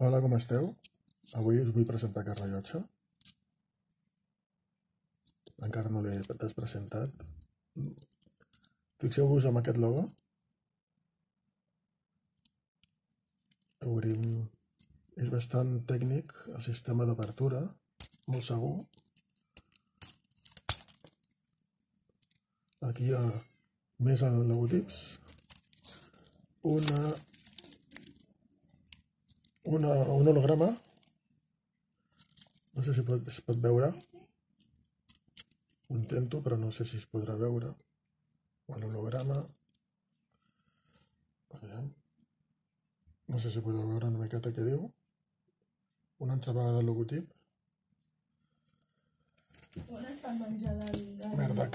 Hola, com esteu? Avui us vull presentar aquest rellotge. Encara no l'he despresentat. Fixeu-vos en aquest logo. Obrim. És bastant tècnic el sistema d'obertura, molt segur. Aquí hi ha més logotips. Un holograma. No sé si es pot veure. Ho intento, però no sé si es podrà veure. L'holograma. No sé si podeu veure una miqueta què diu. Una altra vegada el logotip. On està el menjar del... Merda.